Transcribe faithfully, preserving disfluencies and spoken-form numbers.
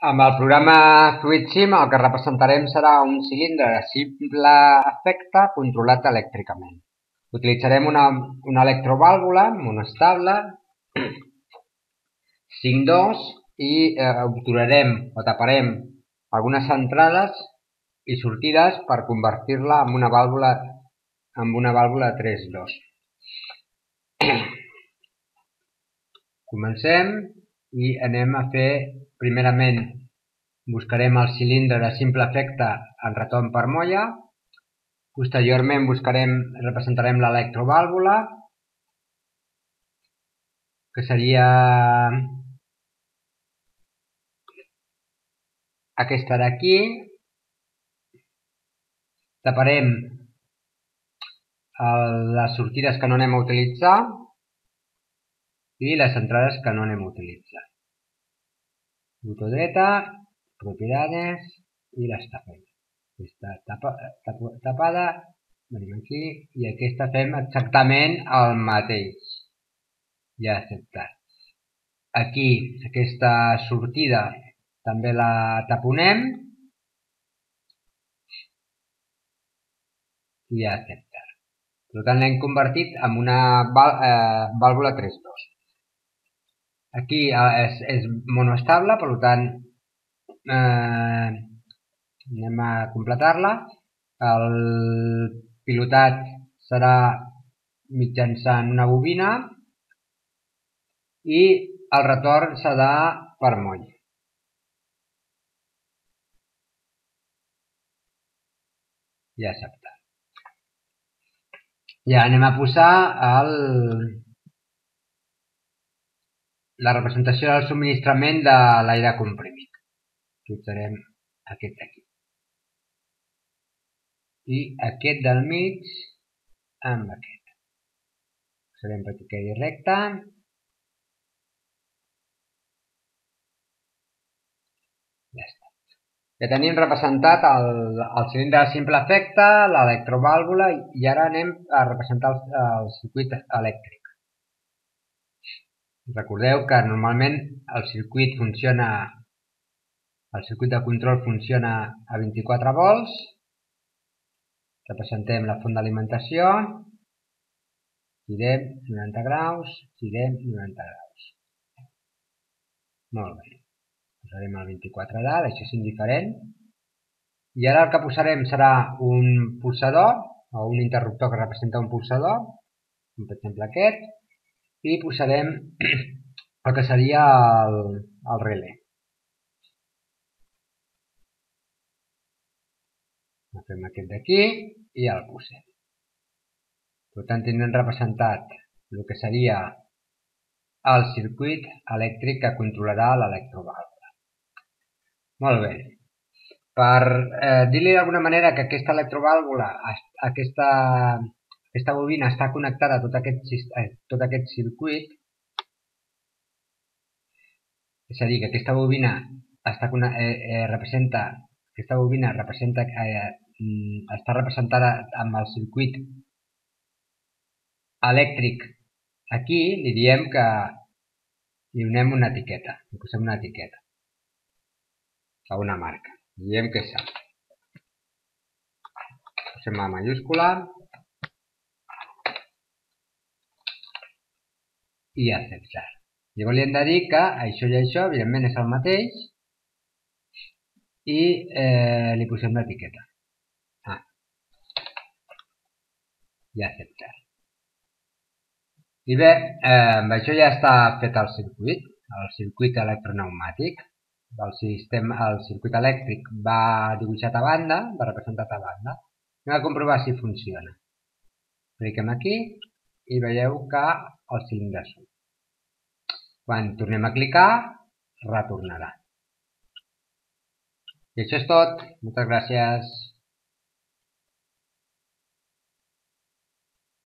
Amb el programa FluidSim el que representarem serà un cilindre de simple efecte controlat elèctricament. Utilitzarem una, una electrovàlvula monostable cinc dos i eh, obturarem o taparem algunes entrades i sortides per convertir-la en una vàlvula en una vàlvula tres dos. Comencem i anem a fer, primerament buscarem el cilindre de simple efecte en retorn per molla, posteriorment buscarem, representarem l'electrovàlvula, que seria aquesta d'aquí, taparem les sortides que no anem a utilitzar i les entrades que no anem a utilitzar. Botó dreta, propiedades i les tapem. Aquesta tapa, tapa, tapada, venim aquí i aquesta fem exactament el mateix. Ja acceptat. Aquí aquesta sortida també la taponem i ja acceptat. Per tant, l'hem convertit en una vàlvula tres dos. Aquí és, és monoestable, per tant, eh, anem a completar-la. El pilotat serà mitjançant una bobina i el retorn serà per moll. Ja acceptat. Ja anem a posar el... la representació del subministrament de l'aire comprimit. Utilitzarem aquest d'aquí. I aquest del mig amb aquest. Posarem perquè quedi recte. Ja està. Ja tenim representat el, el cilindre de simple efecte, l'electrovàlvula i ara anem a representar el, el circuit elèctric. Recordeu que normalment el circuit funciona, el circuit de control funciona a vint-i-quatre volts. Representem la font d'alimentació, girem noranta graus, girem noranta graus. Molt bé. Posarem el vint-i-quatre d'A, això és indiferent. I ara el que posarem serà un pulsador, o un interruptor que representa un pulsador, com per exemple aquest, i posarem el que seria el, el relé. Agafem aquest d'aquí i el posem. Per tant, tindrem representat el que seria el circuit elèctric que controlarà l'electrovàlvula. Molt bé. Per eh, dir-li d'alguna manera que aquesta electrovàlvula, aquesta, aquesta bobina està connectada a tot aquest, a tot aquest circuit, és a dir, que aquesta bobina està, eh, eh, representa, aquesta bobina representa, eh, està representada amb el circuit elèctric aquí, li diem que li donem una etiqueta, li posem una etiqueta a una marca, li diem que és alt. Posem la mayúscula i acceptar. Llavors li hem de dir que això i això, evidentment, és el mateix i eh, li posem l'etiqueta. Ah. I acceptar. I bé, eh, amb això ja està fet el circuit, el circuit electropneumàtic. El, sistema, el circuit elèctric va dibuixat a banda, va representat a banda. Anem a comprovar si funciona. Cliquem aquí i veieu que el cilindre surt. Quan tornem a clicar, retornarà. I això és tot. Moltes gràcies.